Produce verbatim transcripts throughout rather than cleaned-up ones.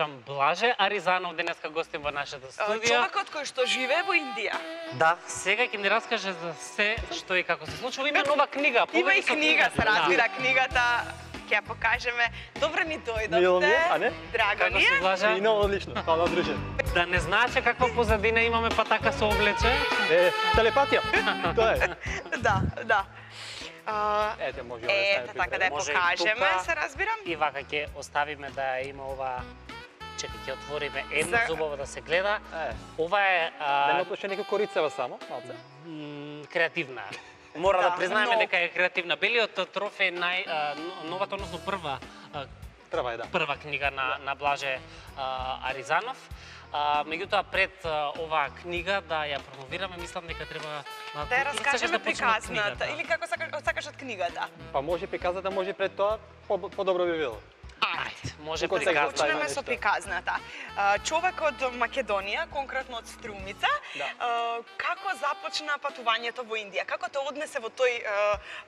кажам, Блаже Аризанов денеска гостин во нашата студија. Човекот кој што живее во Индија. Да, сега ќе ни раскаже за се што и како се случува. Има нова книга. Има и книга, се разбира, книгата ќе ја покажеме. Добро ни дојдовте. Мило ми е, а не? Драго ни е. Блаже? Ино, одлично. Фала, друже. Да не знаеше каква позадина имаме, па така се облече. Е, телепатија. Тоа е. Да, да. Ете, може Ете, така да ја покажеме, се разбирам. И вака ќе оставиме да има ова. Чекај, ќе отвориме едно зубово да се гледа. Ова е... Да не отлучи нека корицева само, малце. Креативна. Мора да признаеме дека е креативна. Белиот трофеј нај новата, односно прва Прва е, да. Прва книга на на Блаже Аризанов. Меѓутоа пред оваа книга да ја промовираме, мислам дека треба да ја раскажеме приказната или како сакаш од книгата. Па може приказната, може пред тоа подобро би било. Ајде, може приказната. Почнеме со приказната. Човек од Македонија, конкретно од Струмица, како започна патувањето во Индија? Како те однесе во тој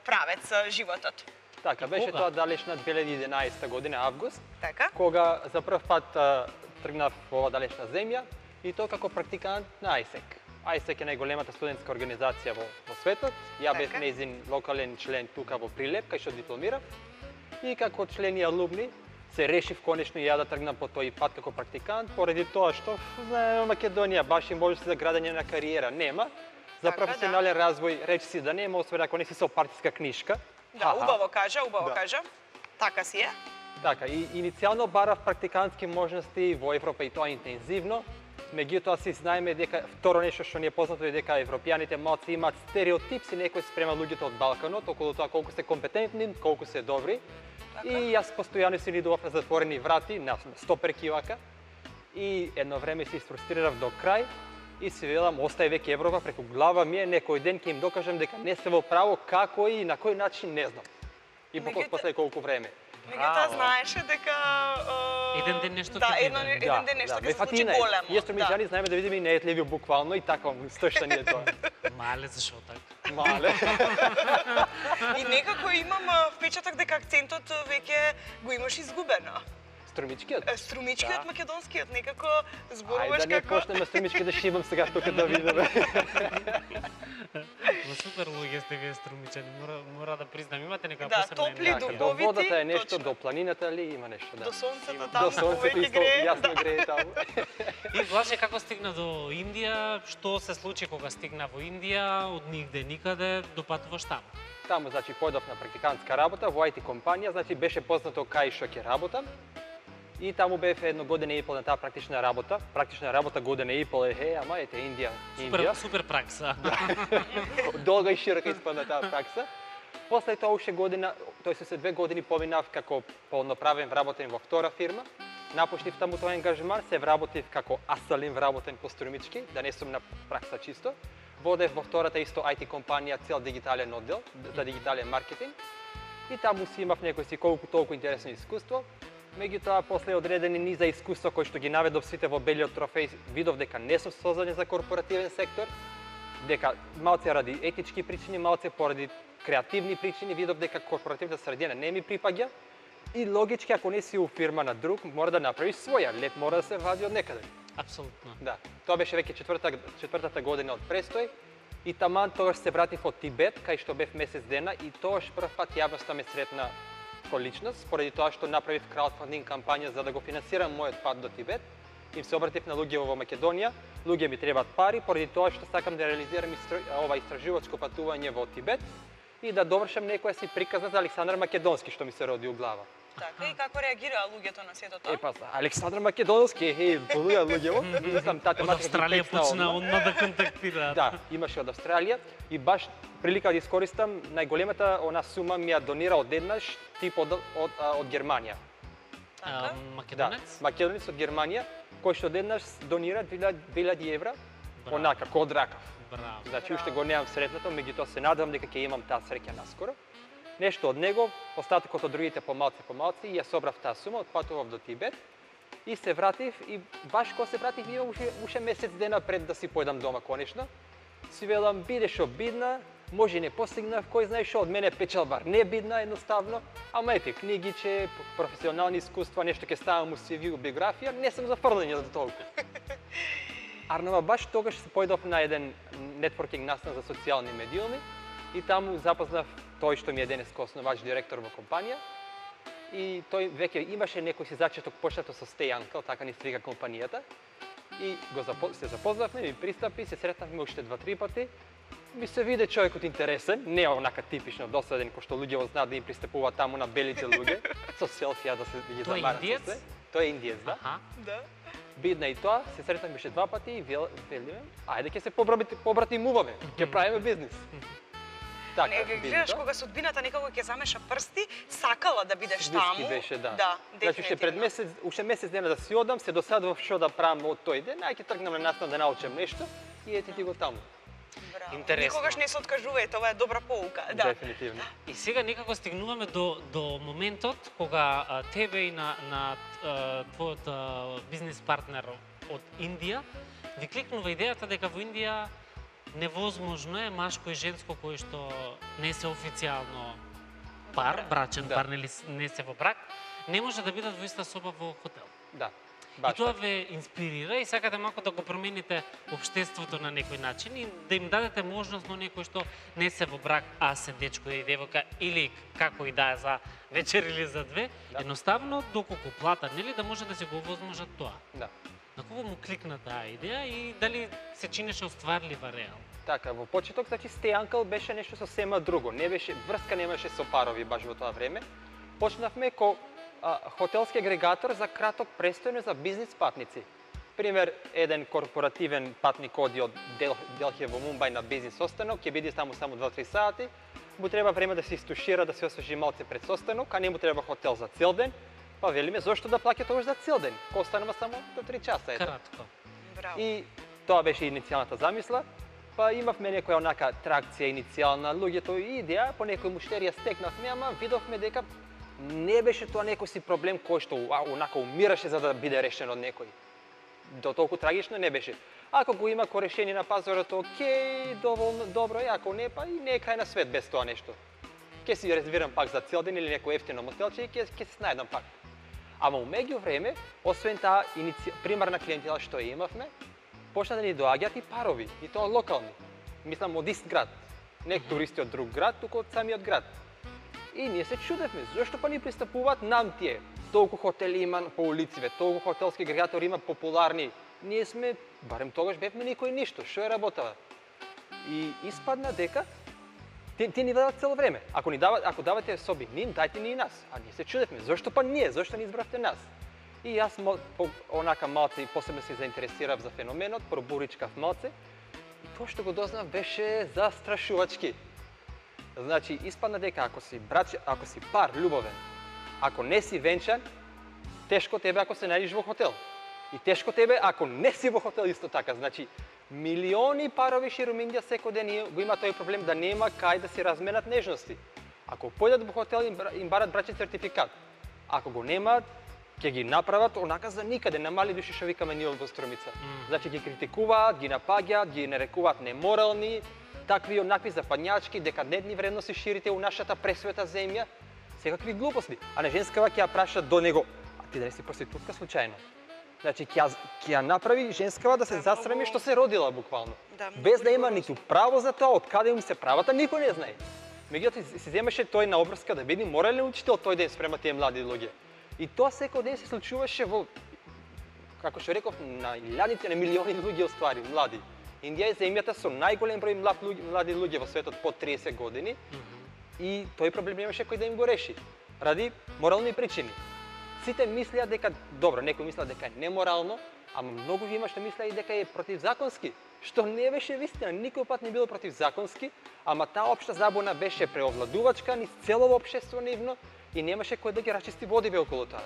правец животот? Така, беше тоа далечна две илјади и единаесета година, август, така? Кога за прв пат тргнав во оваа далечна земја и тоа како практикант на ајсек. ајсек е најголемата студентска организација во, во светот. Ја бев нејзин локален член тука во Прилеп, кај што дипломирав. И како член и алумни се решив конечно и ја да тргнам по тој пат како практикант, поради тоа што знаеме Македонија баш и можности за градење на кариера нема. За професионален развој речи си да нема, освен ако не си со партиска книшка. Да, убаво кажа, убаво кажа. Така си е. Така, и иницијално барав практикантски можности во Европа и тоа интензивно. Меѓутоа си знаеме дека второ нешто што ни е познато е дека европјаните малку имаат стереотипси некои спрема луѓето од Балканот, околу тоа колку се компетентни, колку се добри. Така? И јас постојано си идував на затворени врати, на стоперки вака. И едно време се фрустрирав до крај и си велам, остај веќе Европа, преку глава ми е, некој ден ќе им докажам дека не се во право, како и на кој начин не знам. И поколку после колку време. Меѓутоа знаеше дека еден ден нешто ќе биде. Да, еден ден нешто ќе се случи големо. Ние струмиќани знаеме да видиме и неетливи буквално и така стошта ни е тоа. Мале, зашо така? Мале. И некако имам впечаток дека акцентот веќе го имаш изгубено. Струмичкиот? Струмичкиот, македонскиот, некако зборуваш како... Ајде да не почнеме струмички да шибам сега тука да видиме. Но супер луѓе сте вие струмичани, мора, мора да признам, имате нека да, посебна топли, енергија. До водата е нешто, до планината ли има нешто, да. До сонцето таму, до сонцето веќе грее. Јасно грее таму. И Блаже, како стигна до Индија, што се случи кога стигна во Индија, од нигде никаде, допатуваш таму? Таму, значи, појдов на практикантска работа во ај ти компанија, значи беше познато кај што ќе работам. И таму бев едно година и пол на таа практична работа. Практична работа година и пол е, хе, ама ете Индија. Супер, супер пракса. Долга и широка испадна таа пракса. После тоа уште година, тој се две години поминав како полноправен вработен во втора фирма. Напуштив таму тој ангажман, се вработив како асалин вработен по струмички, да не сум на пракса чисто. Водев во втората исто ај ти компанија цел дигитален оддел за дигитален маркетинг. И таму си имав некој си колку толку интересно искуство. Меѓутоа, после одредени низа искуства кои што ги наведов сите во белиот трофеј, видов дека не сум создаден за корпоративен сектор, дека малце ради етички причини, малце поради креативни причини, видов дека корпоративната средина не ми припаѓа и логички, ако не си у фирма на друг, мора да направиш своја, леп мора да се вади од некаде. Апсолутно. Да. Тоа беше веќе четвртата, четвртата година од престој и таман тогаш се вратив од Тибет, кај што бев месец дена и тогаш прв пат јавноста ме сретна ко личност, поради тоа што направив краудфандинг кампања за да го финансирам мојот пат до Тибет. Им се обратив на луѓе во Македонија, луѓе ми требаат пари, поради тоа што сакам да реализирам истро... ова истражувачко патување во Тибет и да довршам некоја си приказна за Александар Македонски што ми се роди у глава. Така, и како реагираа луѓето на сето тоа? Е, па, Александар Македонски, е, полуја луѓево. Сам таа тематика. Од Австралија почна одма да контактира. Да, имаше од Австралија и баш прилика да искористам, најголемата она сума ми ја донира одеднаш тип од, од, од Германија. А, македонец? Да, македонец од Германија, кој што одеднаш донира две илјади евра, онака, код ракав. Браво. Значи, уште го немам сретнато, меѓутоа се надевам дека ќе имам таа среќа наскоро. Нешто од него, остатокот од другите помалци помалци, и ја собрав таа сума, отпатував до Тибет и се вратив и баш кога се вратив имам уште, уште месец дена пред да си појдам дома конечно. Си велам биде што бидна, може не постигнав, кој знае што, од мене печалба не бидна едноставно, ама ете, книгиче, професионални искуства, нешто ќе ставам у си ви, у биографија, не сум зафрлен за толку. Арнава баш тогаш се појдов на еден нетворкинг настан за социјални медиуми и таму запознав тој што ми е денеска основач, директор во компанија. И тој веќе имаше некој си зачеток почнато со Stay Uncle, така ни се вика компанијата. И го запо... се запознавме, ми пристапи, се сретнавме уште два-три пати. Ми се виде човекот интересен, не онака типично досаден кој што луѓе знаат да им пристапуваат таму на белите луѓе со селфија да се ги замарат со се. Тој е индиец, да? Аха. Да. Бидна и тоа, се сретнавме уште два пати и вел... велиме, ајде ќе се побратимуваме, ќе правиме бизнис. Така, не, гледаш кога судбината некако ќе замеша прсти, сакала да бидеш таму. Свиски беше, да. Да, значи, уште пред месец, уште месец дена да си одам, се досадував што да правам од тој ден, ај ќе тргнам на настан да научам нешто и ете ти го таму. Браво. Интересно. Никогаш не се откажувајте, ова е добра поука. Да. Дефинитивно. И сега некако стигнуваме до, до моментот кога а, тебе и на, на а, твојот а, бизнес партнер од Индија ви кликнува идејата дека во Индија невозможно е машко и женско кој што не се официјално пар, брачен да. пар, нели не се во брак, не може да бидат во иста соба во хотел. Да. И тоа ве инспирира и сакате малку да го промените општеството на некој начин и да им дадете можност на некој што не се во брак, а се дечко и девојка или како и да е за вечер или за две, да. Едноставно доколку платат, нели да може да се го овозможат тоа. Да. На кого му кликна таа идеја и дали се чинеше остварлива реално? Така, во почеток, значи Stay Uncle беше нешто сосема друго, не беше врска немаше со парови баш во тоа време. Почнавме ко а, хотелски агрегатор за краток престојно за бизнис патници. Пример, еден корпоративен патник оди од Дел, Делхи во Мумбај на бизнис состанок, ќе биде таму само два-три сати, му треба време да се истушира, да се освежи малце пред состанок, а не му треба хотел за цел ден. Па велиме, зошто да плаќа тоа за цел ден? Ко останува само до три часа, ето. Кратко. Браво. И тоа беше иницијалната замисла. Па имавме некоја онака тракција иницијална, луѓето и идеја, по некој муштерија стекнавме, ама видовме дека не беше тоа некој си проблем кој што онака умираше за да биде решен од некој. До толку трагично не беше. Ако го има ко решение на пазарот, окей, доволно добро, и ако не, па и не е крај на свет без тоа нешто. Ке си резервирам пак за цел ден или некој ефтино мотелче и ке, ке се снајдам пак. Ама у меѓу време, освен таа иници... примарна клиентела што ја имавме, почна да ни доаѓаат и парови, и тоа локални. Мислам од ист град, не туристи од друг град, туку од самиот град. И ние се чудевме, зошто па ни пристапуваат нам тие? Толку хотели има по улициве, толку хотелски агрегатори има популарни. Ние сме, барем тогаш бевме никој ништо, што е работава? И испадна дека Ти, ти ни дават цело време. Ако ни дават, ако давате соби ним, дајте ни и нас. А ние се чудевме, зошто па ние, зошто ни избравте нас? И јас по, онака малце и посебно се заинтересирав за феноменот, пробуричкав малце. И тоа што го дознав беше застрашувачки. Значи, испадна дека ако си брач, ако си пар љубовен, ако не си венчан, тешко тебе ако се најдеш во хотел. И тешко тебе ако не си во хотел исто така. Значи, милиони парови ширум Индија секој ден го има тој проблем да нема кај да си разменат нежности. Ако појдат во хотел им барат брачен сертификат. Ако го немаат, ќе ги направат онака за никаде, на мали души што викаме ние во Струмица. Mm. Значи ги критикуваат, ги напаѓаат, ги нарекуваат неморални, такви онакви западњачки, декадентни вредности ширите у нашата пресвета земја, секакви глупости. А на женскава ќе ја прашат до него, а ти да не си проститутка случајно? Значи, ќе ја направи женскава да се засрами што се родила буквално. Да, без да има ниту право за тоа, од каде им се правата, никој не знае. Меѓутоа, се земеше тој на обрска да биде морален учител тој ден спрема тие млади луѓе. И тоа секој ден се случуваше во, како што реков, на илјадици, на милиони луѓе оствари, млади. Индија е земјата со најголем број млади луѓе во светот под триесет години. Mm -hmm. И тој проблем немаше кој да им го реши. Ради морални причини. Сите мислеа дека, добро, некои мислеа дека е неморално, ама многу има што мислеа и дека е противзаконски, што не беше вистина, никој пат не било противзаконски, ама таа општа забуна беше преовладувачка низ целово општество нивно и немаше кој да ги рачисти водиве околу тоа.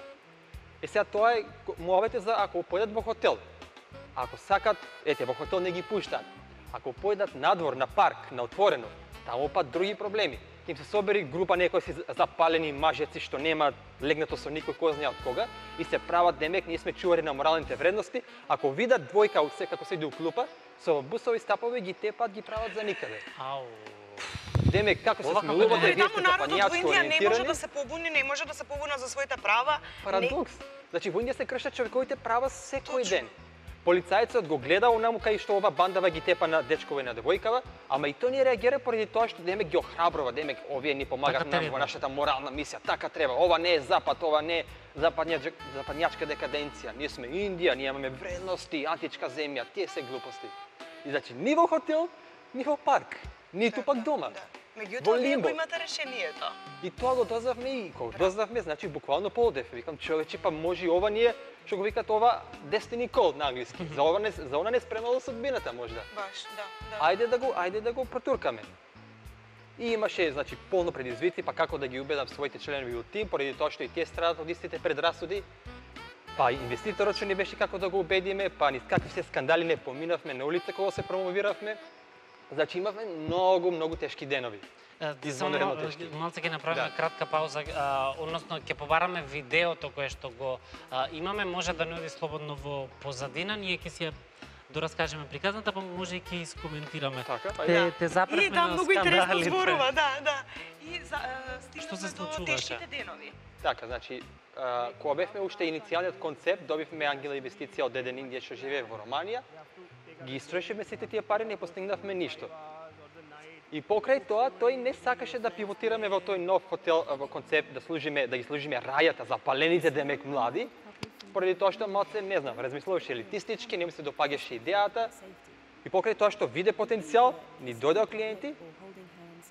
И сега тоа е мовете за ако појдат во хотел. Ако сакат, ете, во хотел не ги пуштаат. Ако појдат надвор, на парк, на отворено, таму пат други проблеми. Им се собери група некои си запалени мажеци што нема легнато со никој кој знае од кога и се прават демек ние сме чувари на моралните вредности. Ако видат двојка се како се иде у клупа, со бусови стапови ги тепат, ги прават за никаде. Ау. Демек како се Ова смилувате, Дори вие таму сте народот во западњачко Индија не може ориентирани. да се побуни, не може да се побуна за своите права. Парадокс. Значи во Индија се кршат човековите права секој Точно. ден. Полицајецот го гледа онаму кај што ова бандава ги тепа на дечкова и на девојкава, ама и тој не реагира поради тоа што демек ги охрабрува, демек овие ни помагаат Така нам треба. во нашата морална мисија, така треба. Ова не е запад, ова не е западња, западњачка декаденција. Ние сме Индија, ние имаме вредности, античка земја, тие се глупости. И значи ни во хотел, ни во парк, ниту пак дома. Да. Во Меѓутоа, вие лимбо. го имате решението. И тоа го дознавме и кога дознавме, значи буквално поодев. Викам, човече, па може и ова ние, што го викат ова destiny call на англиски. За ова не за она не спремало судбината можда. Баш, да, да. Ајде да го, ајде да го протуркаме. И имаше, значи, полно предизвици, па како да ги убедам своите членови од тим, поради тоа што и тие страдат од истите предрасуди. Па инвеститорот што не беше како да го убедиме, па низ какви се скандали не поминавме на улица кога се промовиравме. Значи имавме многу, многу тешки денови. Е, Извонредно Само тешки. малце ќе направиме Да. кратка пауза, а, односно ќе побараме видеото кое што го а, имаме, може да не оди слободно во позадина, ние ќе си ја дораскажеме приказната, па може и ќе искоментираме. Така, па Те, да. те запревме И там на многу интересно скандалите. зборува, да, да. И за, е, Што се стигнавме до случуваше? тешките денови. Така, значи, а, кога бевме уште иницијалниот концепт, добивме ангела инвестиција од еден Индија што живее во Романија, ги истрошивме сите тие пари, не постигнавме ништо. И покрај тоа, тој не сакаше да пивотираме во тој нов хотел, во концепт, да служиме, да ги служиме рајата, запалените демек млади, поради тоа што малце, не знам, размислуваше елитистички, не му се допаѓаше идејата, и покрај тоа што виде потенцијал, ни дојдеа клиенти,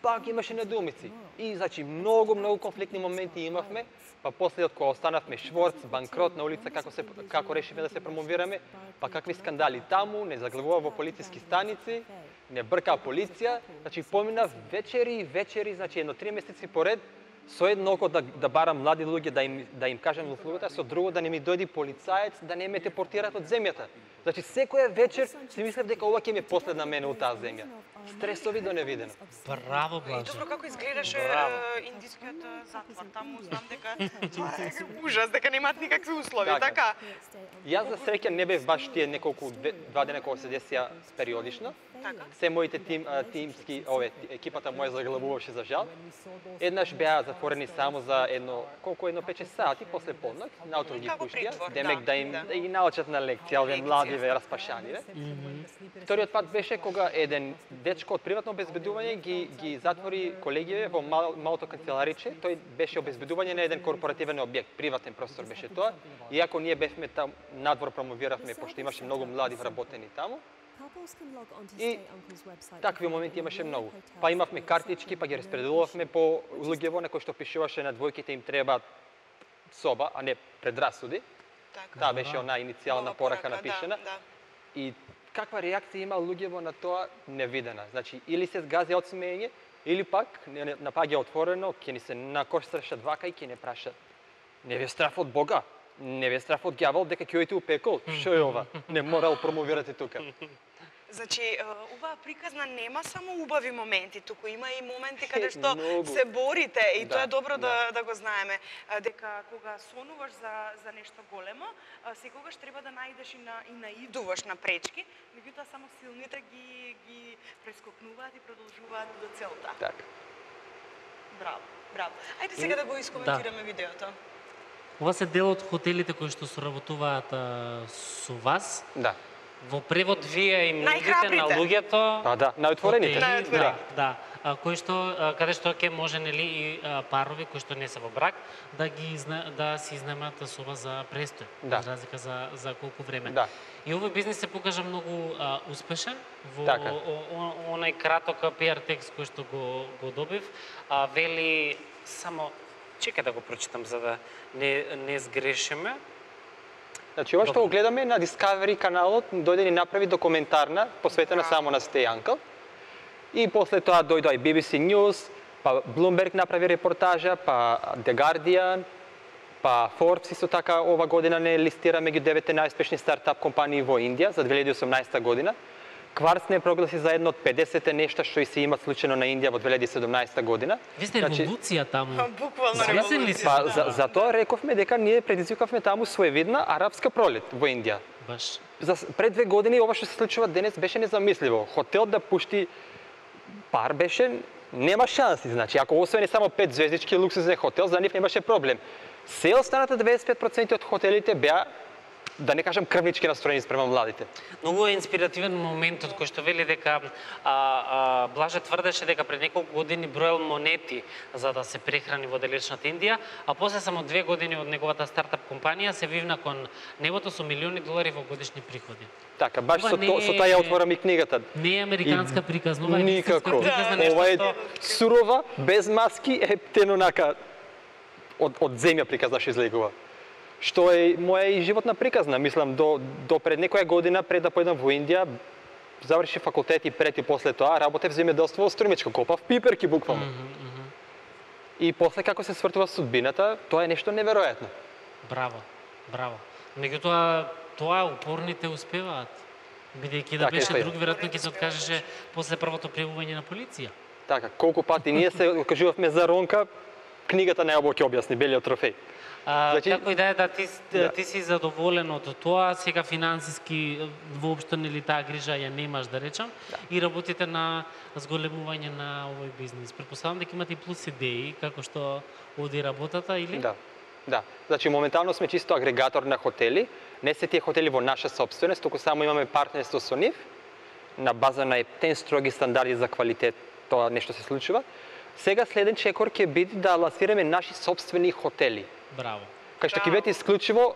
пак имаше недоумици. И значи многу многу конфликтни моменти имавме, па после од кога останавме шворц, банкрот на улица, како се како решивме да се промовираме, па какви скандали таму, не заглавува во полициски станици, не брка полиција, значи поминав вечери и вечери, значи едно три месеци поред, со едно око да, да барам млади луѓе да им да им кажам услугата, со друго да не ми дојди полицаец да не ме депортираат од земјата. Значи секоја вечер си мислев дека ова ќе ми е последна мене од таа земја. Стресови до невидено. Браво, И Блажо. добро како изгледаше Браво. е, индискиот е, затвор. Таму знам дека тоа е ужас, дека немаат никакви услови, Така. така? Јас за среќа не бев баш тие неколку две- два дена кога се десија периодично. Така. Се моите тим, а, тимски, ове, екипата моја заглавуваше за жал. Еднаш беа затворени само за едно, колку едно пет-шест сати после полнок, наутро ги Како пуштија, притвор, демек да, да им да. да ги научат на лекција, овие Лекција. младиве распашаниве. Вториот пат беше кога еден дечко од приватно обезбедување ги ги затвори колегиве во мал, малото канцелариче. Тој беше обезбедување на еден корпоративен објект, приватен простор беше тоа. Иако ние бевме там надвор промовиравме пошто имаше многу млади вработени таму. И Такви моменти имаше многу. Па имавме картички, па ги распределувавме по луѓево на кои што пишуваше на двојките им треба соба, а не предрасуди. Така. Таа беше она иницијална Ова порака да, напишена. Да, И каква реакција има луѓево на тоа невидена. Значи или се згази од смеење, или пак не не- напаѓа отворено, ќе ни се накоштрашат вака и ќе не праша. Не ви е страф од Бога, не ви е страф од ѓавол дека ќе ојдете у пекол. Што е ова? Не морал промовирате тука. Значи, е, оваа приказна нема само убави моменти, туку има и моменти каде што Многу. се борите и Да, тоа е добро да, да. да го знаеме, е, дека кога сонуваш за, за нешто големо, е, секогаш треба да најдеш и, на, и наидуваш на пречки, меѓутоа само силните ги, ги прескокнуваат и продолжуваат до целта. Така. Браво, браво. Ајде сега да го искоментираме видеото. Ова се дел од хотелите кои што соработуваат а, со вас. Да. Во превод вие им нудите на Најхрабрите. луѓето Па да, најотворените. хотели, Најотворените. Да, да. А, кои што а, каде што ќе може нели и а, парови кои што не се во брак да ги изна, да си изнемат соба за престој, Да. за разлика за за колку време. Да. И овој бизнис се покажа многу а, успешен во Така. о, о, онај краток пи ар текст кој што го го добив, а, вели само чекај да го прочитам за да не не сгрешиме. Значи, ова што Добро. го гледаме на Discovery каналот, дојде ни направи документарна, посветена Да. само на Stay Uncle. И после тоа дојдоа и би би си News, па Bloomberg направи репортажа, па The Guardian, па Forbes исто така ова година не листира меѓу деветте најуспешни стартап компании во Индија за две илјади и осумнаесета година. Кварц не прогласи за едно од педесет нешта што и се имат случајно на Индија во две илјади и седумнаесета година. Ви сте Значи, револуција таму. Буквално Свесен ли револуција. си? Па за, за тоа рековме дека ние предизвикавме таму своевидна арапска пролет во Индија. Баш. За пред две години ова што се случува денес беше незамисливо. Хотел да пушти пар беше нема шанси, значи, ако освен само пет звездички луксузен хотел, за нив немаше проблем. Се останата деветдесет и пет проценти од хотелите беа, да не кажам, крвнички настроени спрема младите. Многу е инспиративен моментот кој што вели дека а, а, Блаже тврдеше дека пред неколку години броел монети за да се прехрани во далечната Индија, а после само две години од неговата стартап компанија се вивна кон небото со милиони долари во годишни приходи. Така, баш Ова со, не то, со е- таа ја отворам и книгата. Не е американска приказна, ова е вистинска Никако. приказна, нешто Ова е што сурова, без маски, ептен онака од, од земја приказна што излегува. Што е моја и животна приказна, мислам, до, до пред некоја година, пред да појдам во Индија, заврши факултет и пред и после тоа, работев земјоделство во Струмичко, копав пиперки буквално. Мгм, мгм. И после како се свртува судбината, тоа е нешто неверојатно. Браво, браво. Меѓутоа, тоа упорните успеваат. Бидејќи да Така, беше е. друг, веројатно ќе се откажеше после првото пријавување на полиција. Така, колку пати ние се окажувавме за ронка, книгата најобо ќе објасни белиот трофеј. А, Значи- како и да е, да ти, Да. ти си задоволен од тоа, сега финансиски воопшто нели таа грижа ја немаш, да речам, и работите на зголемување на овој бизнис. Претпоставам дека имате и плюс идеи како што оди работата или? Да. Да. Значи моментално сме чисто агрегатор на хотели. Не се тие хотели во наша собственост, туку само имаме партнерство со нив на база на ептен строги стандарди за квалитет. Тоа нешто се случува. Сега следен чекор ќе биде да лансираме наши собствени хотели. Браво. Кај што ќе бидат исклучиво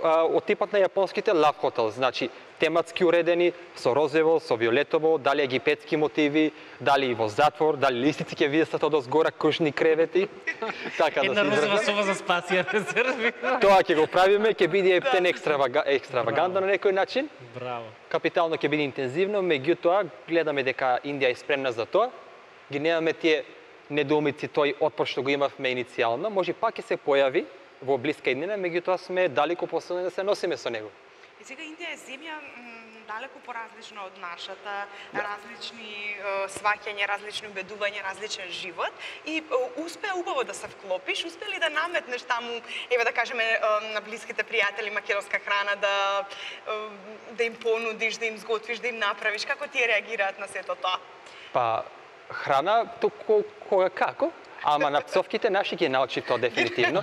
а, од типот на јапонските love hotel, значи тематски уредени, со розово, со виолетово, дали египетски мотиви, дали во затвор, дали листици ќе видат од озгора, кружни кревети. Така да Една се розова изразам. соба за спасија резерви. Тоа ќе го правиме, ќе биде ептен екстравага, екстравагантно на некој начин. Браво. Капитално ќе биде интензивно, меѓутоа гледаме дека Индија е спремна за тоа. Ги немаме тие недоумици, тој отпор што го имавме иницијално, може пак ќе се појави во блиска иднина, меѓутоа сме далеку посилни да се носиме со него. И сега Индија е земја м, далеку поразлична од нашата, различни е, сваќања, различни убедувања, различен живот и е, успеа убаво да се вклопиш, успе ли да наметнеш таму, еве да кажеме е, на блиските пријатели македонска храна, да е, да им понудиш, да им сготвиш, да им направиш, како тие реагираат на сето тоа? Па храна току кога како, ама на пцовките наши ги научи тоа дефинитивно.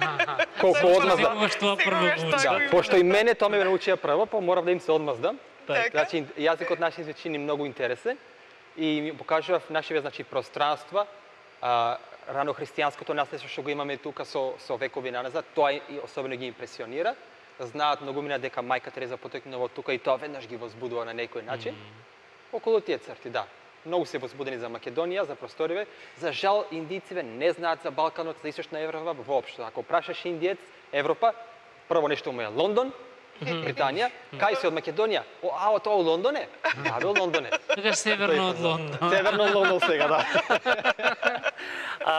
Колку одмаздам. Секогаш тоа прво Секогаш го тоа учи. го Да, има. пошто и мене тоа ме научија прво, па морав да им се одмаздам. Така. Значи јазикот наши се чини многу интересен и ми покажував нашиве значи пространства, а, рано христијанското наследство што го имаме тука со со векови наназад, тоа и особено ги импресионира. Знаат многумина дека мајка Тереза потекнува од тука и тоа веднаш ги возбудува на некој начин. Околу тие црти, да. Многу се возбудени за Македонија, за просториве. За жал, индициве не знаат за Балканот, за Источна Европа воопшто. Ако прашаш индиец, Европа, прво нешто му е Лондон, Британија, кај си од Македонија? О, а, тоа у Лондон е? Да, бе, у Лондон е. Тогаш северно од Лондон. Северно од Лондон сега, да. А,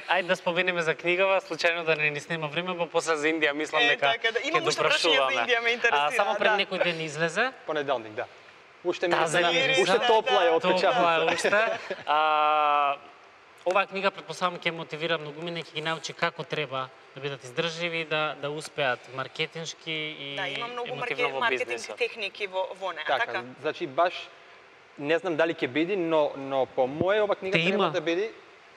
ајде да споменеме за книгава, случајно да не ни снема време, па после за Индија мислам Е, дека така да. Имам ќе уште прашања за допрашуваме. Индија, ме интересира, А, само пред да. некој ден излезе. Понеделник, да. Уште ми Таза на- мириза. уште топла е од Топла печатница. е уште. А, оваа книга предпоставам ќе мотивира многумина и ќе ги научи како треба да бидат издржливи, да да успеат маркетиншки и Да, има многу емотивно марке- во маркетински бизнисот. техники во во неа, Така, така? значи баш не знам дали ќе биде, но но по моја ова книга Те треба има. да биде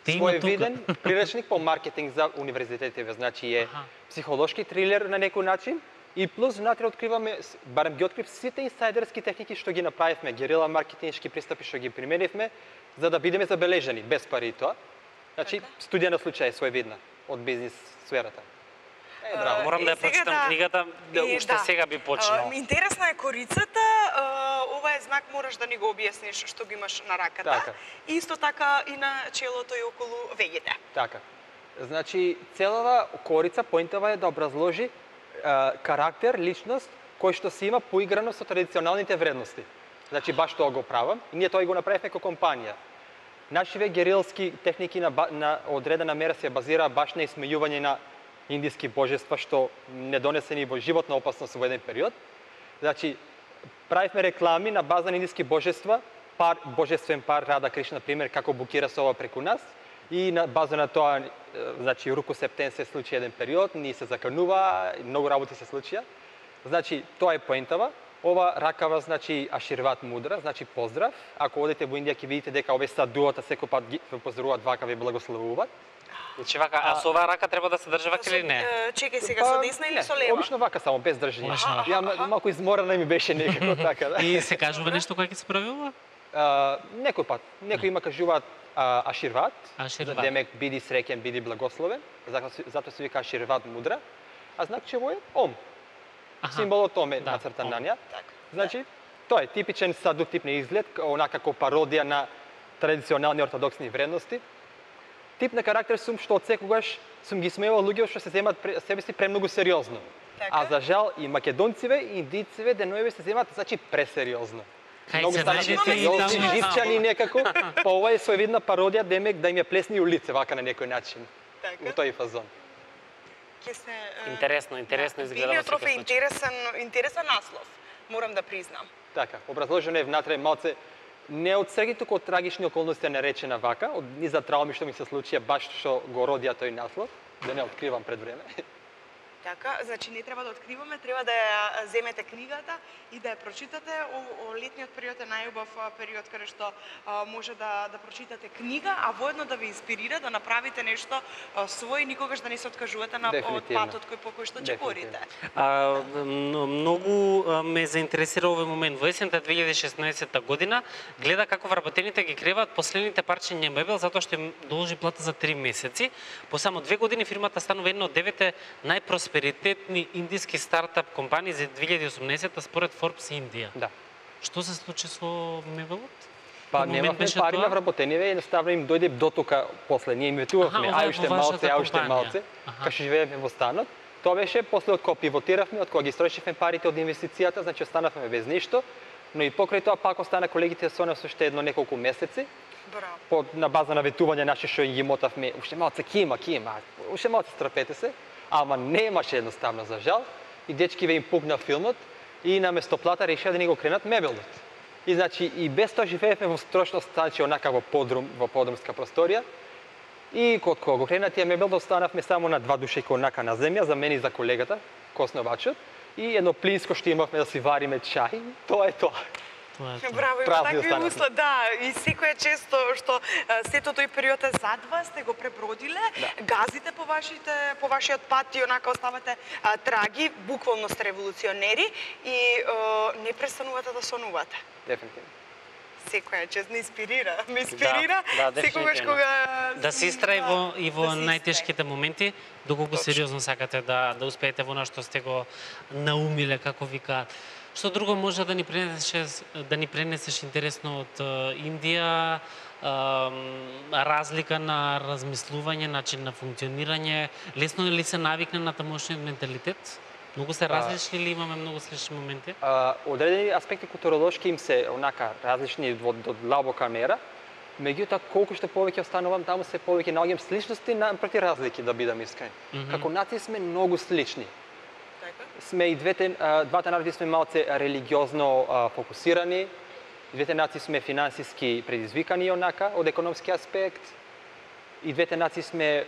Те има тука. своевиден приречник по маркетинг за универзитетите, значи е Аха. психолошки трилер на некој начин и плюс внатре откриваме, с- барем ги открив сите инсайдерски техники што ги направивме, герила маркетиншки пристапи што ги применивме, за да бидеме забележани без пари и тоа. Значи Така. студија на случај своевидна од бизнис сферата. Е, браво. Морам да ја Е, сега прочитам да- книгата, да е, уште сега би почнал. А, интересна е корицата, а, ова е знак, мораш да ни го објасниш што го имаш на раката. Така. И исто така и на челото и околу веѓите. Така. Значи, целава корица, поинтова е да образложи а, карактер, личност, кој што се има поиграно со традиционалните вредности. Значи, баш тоа го правам и ние тоа и го направивме како компанија. Нашиве герилски техники на, ба- на одредена мера се базира баш на исмејување на индиски божества што не донесени во животна опасност во еден период. Значи, правивме реклами на база на индиски божества, пар, божествен пар Рада Кришна, на пример, како букира се ова преку нас, и на база на тоа, е, значи, Руку Септен се случи еден период, ние се заканува, многу работи се случија. Значи, тоа е поентава. Ова ракава значи аширват мудра, значи поздрав. Ако одите во Индија ќе видите дека овие садуата секој пат ги ве поздравуваат вака, ве благословуваат. Значи вака, а со оваа рака треба да се држи вака или не? Е, Чекај сега со десна или не, со лева? Обично вака само без држење. Обично вака. Ја малку изморена ми беше некако така, да. И се кажува нешто кога ќе се прави ова? А, некој пат, некои има кажуваат а, аширват, Аширват. за демек биди среќен, биди благословен, затоа се- затоа се вика аширват мудра, а значево е ом. Аха. Символот ом е Да, нацртан ом. на неа. Така. Значи, тоа е типичен саду тип на изглед, онака како пародија на традиционални ортодоксни вредности. Тип на карактер сум што од секогаш сум ги смеевал луѓе што се земат пре- себе си премногу сериозно. Така. А за жал и македонциве и индициве деноеве се земат значи пресериозно. Кај Многу се станати најдете и сериозни, таму. живчани некако, па ова е соевидна пародија демек да им ја плесни улице вака на некој начин. Така. Во тој фазон. Ќе се е, Интересно, интересно изгледа во Билиотроф секој е случај. интересен, интересен наслов, морам да признам. Така, образложено е внатре малце не од среќи, туку од трагични околности е наречена вака, од низа трауми што ми се случија баш што го родија тој наслов, да не откривам пред време. Така, значи не треба да откриваме, треба да ја земете книгата и да ја прочитате. О, о летниот период е најубав а, период каде што а, може да да прочитате книга, а воедно да ви инспирира да направите нешто а, свој, никогаш да не се откажувате на од Дефинитивно. патот кој по кој што ќе Дефинитивно. корите. А, м- многу а, ме заинтересира овој момент. Во есента две илјади и шеснаесетта година гледа како вработените ги креваат последните парчиња мебел затоа што им должи плата за три месеци. По само две години фирмата станува една од деветте најпросперитетни индиски стартап компании за две илјади и осумнаесетта според Forbes Индија. Да. Што се случи со мебелот? Па Во момент немавме беше пари тоа? на вработениве, едноставно им дојде дотока после. Ние им ветувавме, Аха, ова е ај уште во вашата малце, ај уште компанија. малце, Аха. кај што живееме во станот. Тоа беше после од кога пивотиравме, од кога ги строшивме парите од инвестицијата, значи останавме без ништо, но и покрај тоа пак остана колегите со нас уште едно неколку месеци. Браво. По, на база на ветување наши што ги мотавме, уште малце кима, кима, уште малце страпете се, ама немаше едноставно за жал. И дечкиве им пукна филмот и наместо плата решија да ни го кренат мебелот. И значи и без тоа живеевме во строшност, значи онака во подрум, во подрумска просторија. И кога кога го кренат тие мебел, останавме само на два души онака на земја, за мене и за колегата, косновачот, и едно плинско што имавме да си вариме чај. Тоа е тоа. Тоа е тоа. Браво, има Празни такви останавме. услови, да, и секоја често што а, сето тој период е зад вас, сте го пребродиле, Да. газите по вашите по вашиот пат и онака оставате а, траги, буквално сте револуционери и а, не престанувате да сонувате. Дефинитивно. Секоја чест ме инспирира, ме инспирира да, секогаш дефинитивно. кога Да се истраи во и во да се најтешките моменти, доколку Точно. сериозно сакате да да успеете во она што сте го наумиле, како викаат. Што друго може да ни пренесеш да ни пренесеш интересно од е, Индија, ам, разлика на размислување, начин на функционирање, лесно ли се навикна на тамошниот менталитет? Многу се различни или имаме многу слични моменти? А, одредени аспекти културолошки им се онака различни во до длабока мера, меѓутоа колку што повеќе останувам таму се повеќе наоѓам сличности напроти разлики, да бидам искрен. Мгм. Како нации сме многу слични. Така? Сме и двете а, двата народи сме малце религиозно а, фокусирани. Двете нации сме финансиски предизвикани онака од економски аспект. И двете нации сме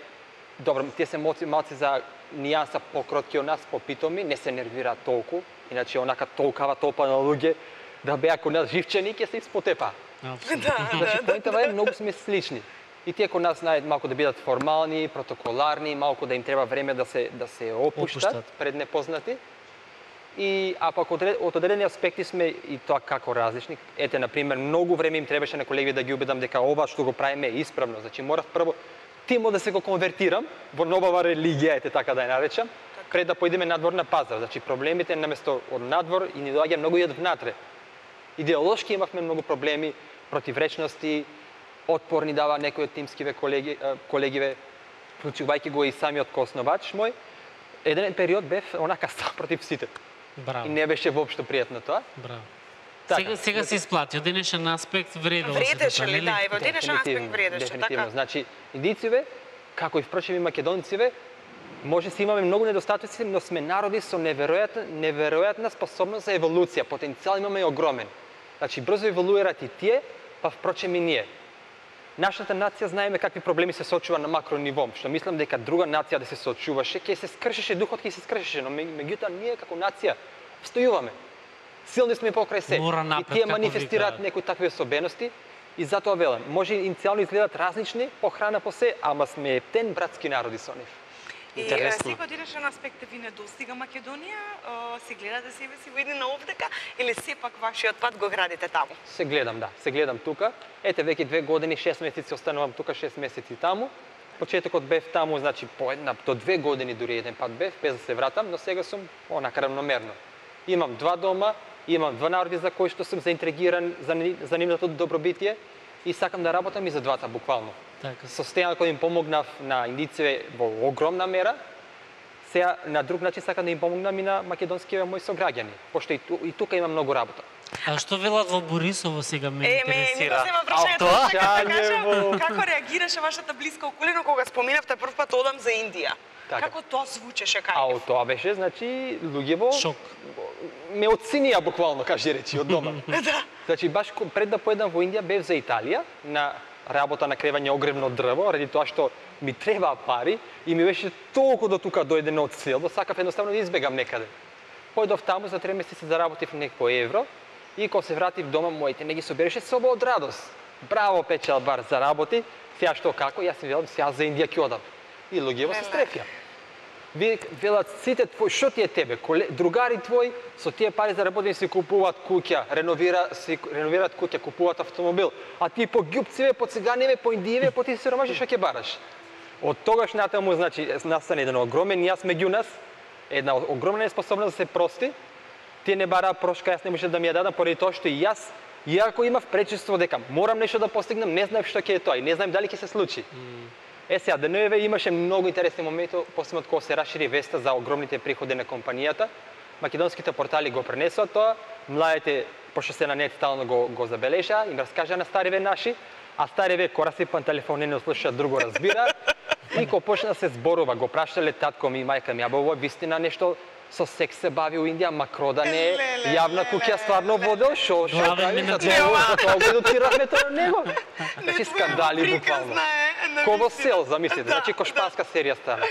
добро, тие се малце, малце за нијанса покротки од нас, попитоми, не се нервираат толку, иначе онака толкава толпа на луѓе да беа кон нас живчени ќе се испотепа. Апсолутно. Да, Значи, да, поинтава е многу сме слични. И тие кон нас знаат малку да бидат формални, протоколарни, малку да им треба време да се да се опуштат, Опуштат. пред непознати. И а пак од, од одредени аспекти сме и тоа како различни. Ете на пример, многу време им требаше на колегите да ги убедам дека ова што го правиме е исправно. Значи морав прво тимо да се го конвертирам во новава религија, ете така да ја наречам, пред да поидеме надвор на пазар. Значи проблемите наместо од надвор и ни доаѓа многу и од внатре. Идеолошки имавме многу проблеми, противречности, отпор ни дава некои од тимскиве колеги, е, колегиве, вклучувајќи го и самиот косновач мој. Еден период бев онака сам против сите. Браво. И не беше воопшто пријатно тоа. Браво. Така. Сега, сега се исплати, од денешен аспект вредело се Вредеше тоа, ли, нели? да, и во денешен аспект Дефинитивно, вредеше, дефинитивно. така? Значи, индициве, како и впрочем и македонциве, може си имаме многу недостатоци, но сме народи со неверојатна, неверојатна способност за еволуција. Потенцијал имаме огромен. Значи, брзо еволуират и тие, па впрочем и ние. Нашата нација знаеме какви проблеми се соочува на макро ниво, што мислам дека друга нација да се соочуваше, ќе се скршеше духот, ќе се скршеше, но ме- меѓутоа ние како нација стојуваме. Силни сме покрај се. Мора И напред, тие како манифестираат викаат. некои такви особености. И затоа велам, може иницијално изгледат различни, по храна по се, ама сме ептен братски народи со нив. И Интересно. секој одираш на аспекте ви не достига Македонија, а, си гледате себе си во едина овдека или сепак вашиот пат го градите таму? Се гледам, да, се гледам тука. Ете, веќе две години, шест месеци останувам тука, шест месеци таму. Почетокот бев таму, значи по една до две години дури еден пат бев, без да се вратам, но сега сум онака равномерно. Имам два дома, имам два народи за кои што сум заинтригиран за, ни- за нивното добробитие и сакам да работам и за двата буквално. Така. Состојано кој им помогнав на индиците во огромна мера, сега на друг начин сакам да им помогнам и на македонските мои сограѓани, пошто и, ту, и тука има многу работа. А што велат во Борисово сега ме Е, ме, ми интересира? го зема прашањето, тоа? чакам да Шањево. кажам, како реагираше вашата блиска околина кога споминавте прв пат одам за Индија? Така. Како тоа звучеше кај А нив? од тоа беше, значи, луѓево Шок. ме оценија буквално, кажи речи, од дома. Да. Значи, баш ко- пред да поедам во Индија, бев за Италија, на работа на кревање огревно дрво, ради тоа што ми требаа пари и ми беше толку до тука дојдено од цел, да сакав едноставно да избегам некаде. Појдов таму за три месеци заработив некој евро и кога се вратив дома, моите не ги собереше соба од радост. Браво, печалбар, заработи, сега што како, јас си велам, сега за Индија ќе одам. И луѓево се стрефија. Ви велат сите твои, што ти е тебе, коле, другари твои со тие пари заработени си купуваат куќа, реновира си реновираат куќа, купуваат автомобил, а ти по ѓупциве, по циганиве, по индиеве, по ти сиромаши што ќе бараш. Од тогаш натаму, значи, настане еден огромен јас меѓу нас, една огромна неспособност да се прости. Тие не бараа прошка, јас не можев да ми ја дадам поради тоа што и јас, иако имав пречувство дека морам нешто да постигнам, не знаев што ќе е тоа и не знаем дали ќе се случи. Е сега, ДНВ имаше многу интересни моменти, посебно кога се расшири веста за огромните приходи на компанијата. Македонските портали го пренесоа тоа, младите, пошто се на нет стално го, го забележаа, им раскажаа на стариве наши, а стариве кога расипан телефон не слушаат, друго разбира. И кога почна да се зборува, го прашале татко ми и мајка ми, абе ова вистина нешто со секс се бави у Индија, Макрода не е Леле, јавна куќа стварно водел, шо шо Главен прави, менаџер. за тоа го дотиравме тоа на него. Значи скандали Приказна буквално. е, на Ко во вистина. сел, замислите, Да, значи ко шпанска серија стана.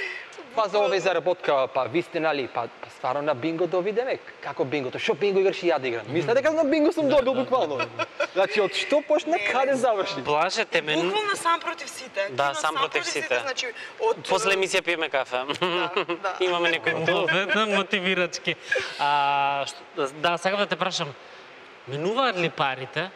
Па за овој заработка, па вистина ли, па, па стварно на бинго довидеме. Како бингото? Што бинго играш и ја да играм? Мисля дека на бинго сум добил буквално. Значи од што почна, каде заврши? Блажете ме. Буквално сам против сите. Да, Активно сам против сите. Значи, од После емисија пиеме кафе. да. Имаме некој мотивирачки. мотивирачки. А, што- да, сакам да те прашам. Менуваат ли парите?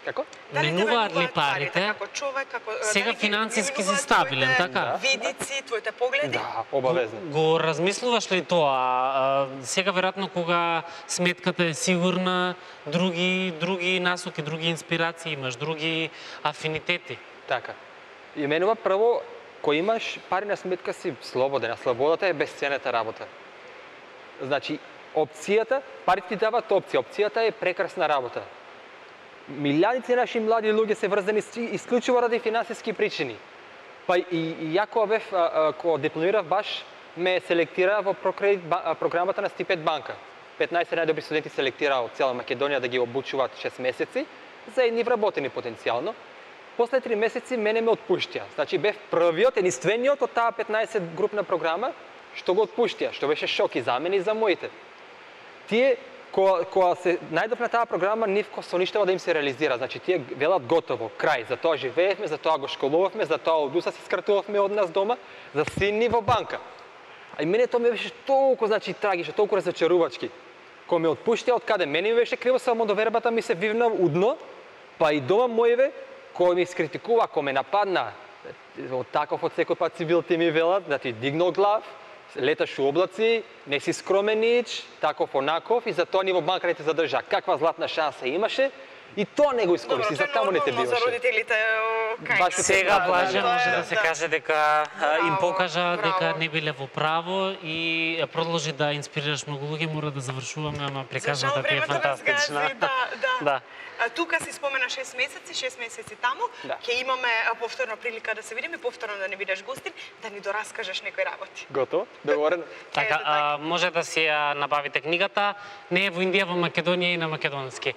Како? Дали те Менуваат ли менуваат парите? Како човек, како Сега дали ги финансиски си менуваат стабилен, твоите така? Видици, твоите погледи? Да, обавезно. Го размислуваш ли тоа? А, сега веројатно кога сметката е сигурна, други други насоки, други инспирации имаш, други афинитети. Така. И менува прво, кој имаш пари на сметка си слободен, а слободата е безценета работа. Значи, опцијата, парите ти дават опција, опцијата е прекрасна работа. Милијадици наши млади луѓе се врзани с- исклучиво ради финансиски причини. Па и, и ја кога бев, а, а, кога дипломирав баш, ме селектира во прокредит ба- а, програмата на Стипендија банка. петнаесет најдобри студенти селектираа од цела Македонија да ги обучуваат шест месеци за едни вработени потенцијално. После три месеци мене ме отпуштија. Значи бев првиот, единствениот од таа петнаесет групна програма што го отпуштија, што беше шок и за мене и за моите. Тие кога, кога се најдов на таа програма, нивко со ништава да им се реализира. Значи тие велат готово, крај, за тоа живеевме, за тоа го школувавме, за тоа од уса си скратувавме од нас дома, за синни во банка. А и мене тоа ми беше толку, значи, трагично, толку разочарувачки. Кога ме отпуштија, од каде мене ми беше криво, само довербата ми се вивна удно, па и дома мојве, кој ми искритикува, кој ме нападна, од таков од секој пат цивил ти ми велат, да ти дигнал глав, леташ у облаци, не си скромен нич, таков онаков и затоа ни во банка не те задржа. Каква златна шанса имаше и тоа не го искористи, за таму не те нормално за биваше. родителите, о, кај Баш се. Сега Да, Блаже да, може да, да се да. каже дека а, им Браво, покажа дека браво. не биле во право и продолжи да инспирираш многу луѓе, мора да завршуваме, ама За приказната жал ти е времето фантастична. разгази, да, да. Да. А, тука си спомена шест месеци, шест месеци таму. Да. Ќе имаме а, повторна прилика да се видиме, повторно да не бидеш гостин, да ни дораскажеш некои работи. Готово, договорено. Така, Ето а, може да си ја набавите книгата. Не е во Индија, во Македонија и на македонски.